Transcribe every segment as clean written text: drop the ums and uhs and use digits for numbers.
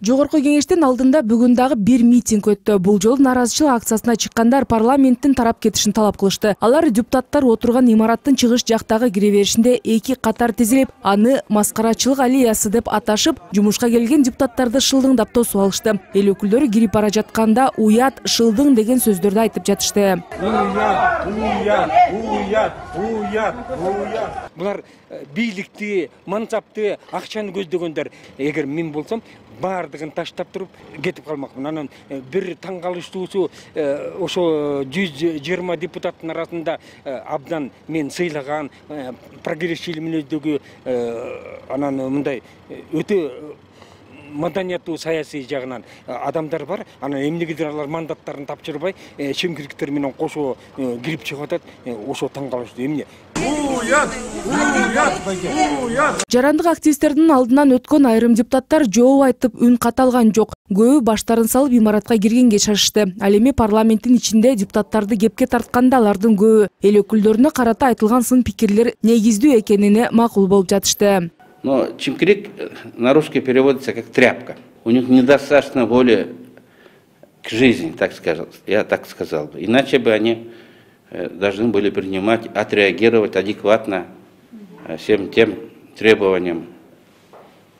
Жогорку кеңештин алдында бүгүн дагы бир митинг өттү. Бул жолу нааразычылык акциясына чыккандар парламенттин тарап кетишин талап кылышты. Алар депутаттар отурган имараттын чыгыш жактагы кире беришинде эки катар тизилип, аны маскарачылык аллеясы деп аташып, жумушка келген депутаттарды шылдыңдап тосуп алышты. Эл өкүлдөрү кирип бара жатканда уят, шылдың деген сөздөрдү айтып жатышты. Булар бийликти, мансапты, акчаны көздөгөндөр. Эгер мен болсом, бардыгын таштап туруп кетип калмакмын. Анан бир таң калыштуусу ошо 120 депутаттын арасында абдан мен сыйлаган прогрессивдүү мүнөздөгү анан мындай өтө маданияттуу саясий жагынан адамдар бар. Анан эмнегедир алар мандаттарын тапшырбай, чемкириктер менен кошо кирип чыгып атат. Ошо таң калыштуу эмне? Жарандык активисттердин алдынан өткөн айрым депутаттар жооп айтып үн каталган жок. Көбү баштарын салып имаратка киргенге шашышты. Ал эми парламенттин ичинде депутаттарды кепке тартканда алардын көбү эл өкүлдөрүнө карата айтылган сын пикирлер негиздүү экенине макул болуп жатышты. Но чимкирик на русский переводится как тряпка. У них недостаточно воли к жизни, так скажем, я так сказал бы. Иначе бы они должны были принимать, отреагировать адекватно всем тем требованиям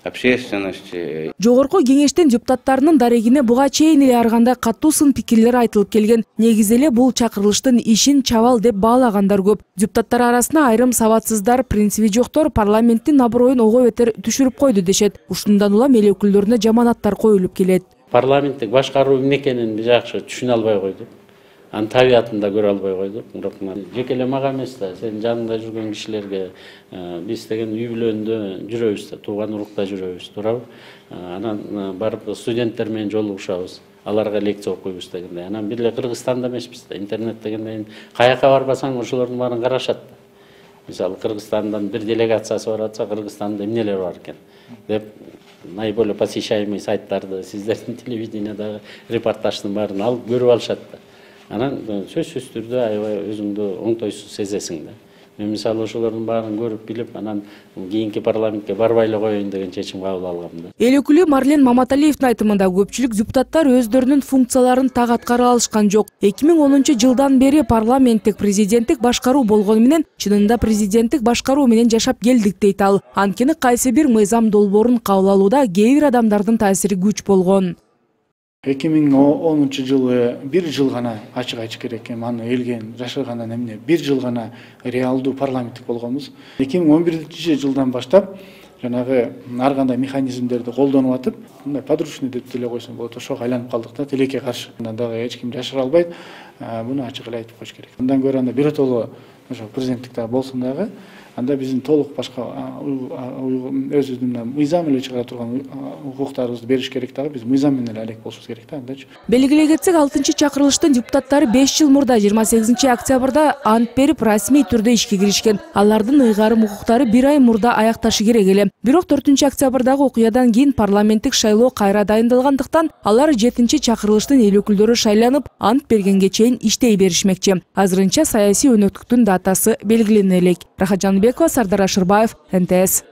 общественности. Жогорку кеңештин депутаттарынын дарегине буга чейин эле ар кандай катуу сын пикирлер айтылып келген. Негизи эле бул чакырылыштын ишин чабал деп баалагандар көп. Депутаттар арасында айрым сабатсыздар, принциби жоктор парламенттин аброюн ого бетер түшүрүп койду дешет. Ушундан улам эл өкүлдөрүнө жаманаттар коюлуп келет. Парламенттик башкаруу эмне экенин биз жакшы түшүнө албай койдук. Анын табиятын да көрө албай койдук. Бирок жеке эле мага эмес да, сенин жаныңда жүргөн кишилерге биз деген үй бүлөндө жүрөбүз да, тууган урукта жүрөбүз, туурабы? Анан барып студенттер менен жолугушабыз. Аларга лекция окуйбуз дегенде. Анан бир эле Кыргызстанда эмеспиз да, интернет дегенде каяка барбасаң ошолордун баарын карашат. Мисалы Кыргызстандан бир делегациясы барып атса, Кыргызстанда эмнелер бар экен деп наиболее посещаемый сайттарды, сиздердин телевидениядагы репортаждын баарын алып көрүп алышат да. Анан сөзсүз түрдө аябай өзүңдү оңтойсуз сезесиң да. Мен мисалы ошолордун баарын көрүп билип, анан кийинки парламентке барбай эле коеюн деген чечим кабыл алгам да. Эл өкүлү Марлен Маматалиевдин айтымында көпчүлүк депутаттар өздөрүнүн функцияларын так аткара алышкан жок. 2010 жылдан бери парламенттик президенттик башкаруу болгону менен чынында президенттик башкаруу менен жашап келдик дейт ал. Анткени кайсы бир мыйзам долбоорун кабыл алууда кээ бир адамдардын таасири күч болгон. 2010 жылы бир жыл гана ачык айтыш керек экен, аны элге жашыргандан эмне бир жыл гана реалдуу парламенттик болгонбуз. 2011 жылдан баштап жанагы ар кандай механизмдерди колдонуп атып, мындай подручный деп деле койсом болот, ошого айланып калдык да, тилекке каршы. Андан дагы эч ким жашыра албайт, буну ачык эле айтып коюш керек. Андан көрө анда биротоло ошо президенттикте болсун дагы, анда биздин толук башка өзүбүздүн мыйзам эле чыгара турган укуктарыбызды бериш керек дагы, биз мыйзам менен эле алек болушубуз керек да, андачы. Белгилей кетсек, 6-чакырылыштын депутаттары 5 жыл мурда 28 октябрда ант берип расмий түрдө ишке киришкен. Алардын ыйгарым укуктары 1 ай мурда аякташы керек эле. Бирок 4-октябрдагы окуядан кийин парламенттик шайлоо кайра дайындалгандыктан алар 7-чакырылыштын эл өкүлдөрү шайланып, ант бергенге чейин иштей беришмекчи. Азырынча саясий өнөктүктүн датасы белгилене элек. Рахат Жаныбекова, Сардар Ашырбаев, НТС.